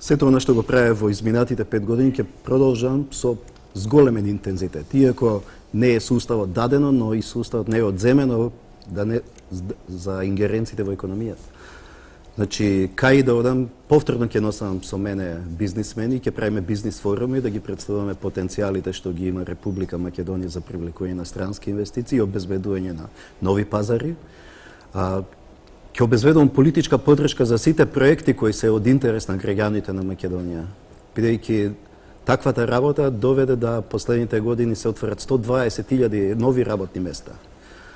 Сето она што го правев во изминатите 5 години ќе продолжам со зголемен интензитет. Иако не е суставот дадено, но и суставот не е одземено за ингеренциите во економијата. Значи, кај да одам, повторно ќе носам со мене бизнисмени, ќе правиме бизнис форуми, да ги представуваме потенцијалите што ги има Република Македонија за привлекување на странски инвестиции и обезбедување на нови пазари. Ќе обезбедувам политичка поддршка за сите проекти кои се од интерес на граѓаните на Македонија, бидејќи таквата работа доведе да последните години се отворат 120.000 нови работни места.